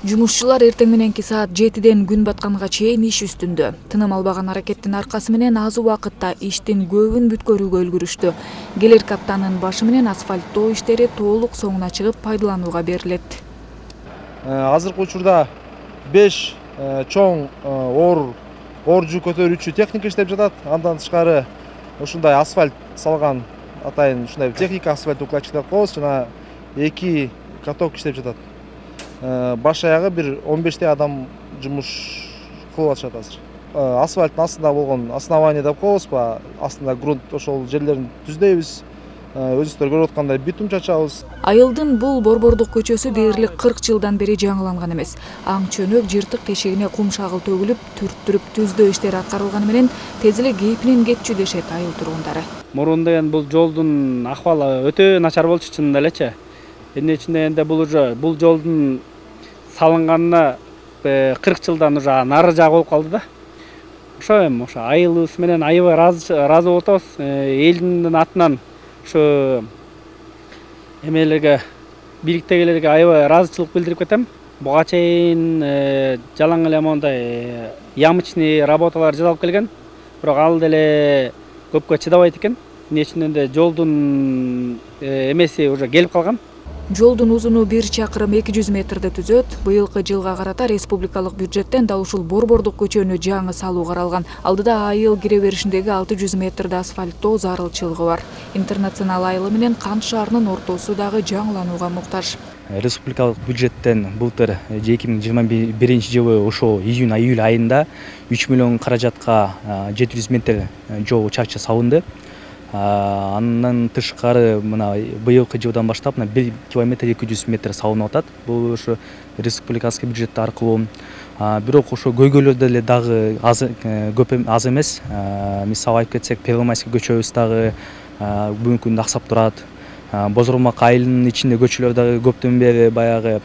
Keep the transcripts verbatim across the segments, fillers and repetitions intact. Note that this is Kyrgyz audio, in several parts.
Жумушчулар эртең мененки саат жетиден күн батканга чейин иш үстүндө. Тыным албаган аракеттин аркасы менен аз убакытта иштин көбүн бүткөрүүгө үлгүрүштү. Келерки аптанын башы менен асфальттоо иштери толук соңуна чыгып пайдаланууга берилет. Азыркы учурда беш чоң оор оор жүк көтөрүүчү техника иштеп жатат. Андан тышкары ушундай асфальт салган атайын ушундай техника асфальт укладчик деп коебуз, жана эки каток иштеп жатат. Баш аягы бир он бештей адам жумуш кылып атышат азыр. Асфальттын астында болгон основание деп коебузбу, астында грунт ошол жерлерин түздөйбүз. Өзүңүздөр көрүп аткандай битум чачабыз. Айылдын бул Борбордук көчөсү дээрлик кырк жылдан бери жаңыланган эмес. Аң чөнөк жыртык тешегине кум шагыл төгүлүп, түрттүрүп түздөө иштери аткарылганы менен тез эле кейпинен кетчү дешет айыл тургундары. Мурун деген бул жолдун акыбалы өтө начар болчу чынында элечи. Эмне үчүн дегенде бул уже бул жолдун салынганына кырк жылдан уже нары жагы болуп калды да. Ошо эми ошо айылыбыз менен аябай ыраазы болуп атабыз. Элдин атынан ошо эмелерге бийликтегилерге аябай ыраазычылык билдирип кетем. Буга чейин жалаң эле мондай ямочный работалар жасалып келген. Бирок ал деле көпкө чыдабайт экен. Эмне үчүн дегенде жолдун эмеси уже келип калган. Жолдун узуну бир чакырым эки жүз метрди түзөт. Быйылкы жылга карата республикалык бюджеттен дал ушул Борбордук көчөнү жаңы салуу каралган. Алдыда айыл кире беришиндеги алты жүз метрди асфальттоо зарылчылыгы бар. Интернационал айылы менен Кант шаарынын ортосу дагы жаңыланууга муктаж. Республикалык бюджеттен былтыр эки миң жыйырма биринчи жылы ошо июнь июль айында үч миллион каражатка жети жүз метр жол учакча салынды. Андан тышкары мына быйылкы жылдан баштап мына бир километр эки жүз метр салынып атат. Бул ошо республикалык бюджет аркылуу. Бирок ошо көйгөйлөр деле дагы аз көп аз эмес. Мисалы айтып кетсек, Первомайский көчөбүз дагы бүгүнкү күндө аксап турат. Бозормак айылынын ичинде көчөлөр дагы көптөн бери баягы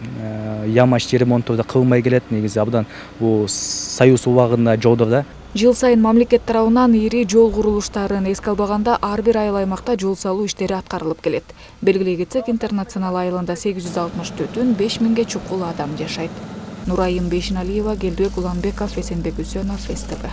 ямач ремонттор да кылынбай келет. Негизи абдан бул Союз убагында жолдор да. Жыл сайын мамлекет тарабынан ири жол курулуштарын эске албаганда ар бир айыл аймакта жол салуу иштери аткарылып келет. Белгилей кетсек, Интернационал айылында сегиз жүз алтымыш түтүн, беш миңге чукул адам жашайт. Нурайым Бешиналиева, Келдибек Уланбеков, Эсенбек Үсөнов, СТВ.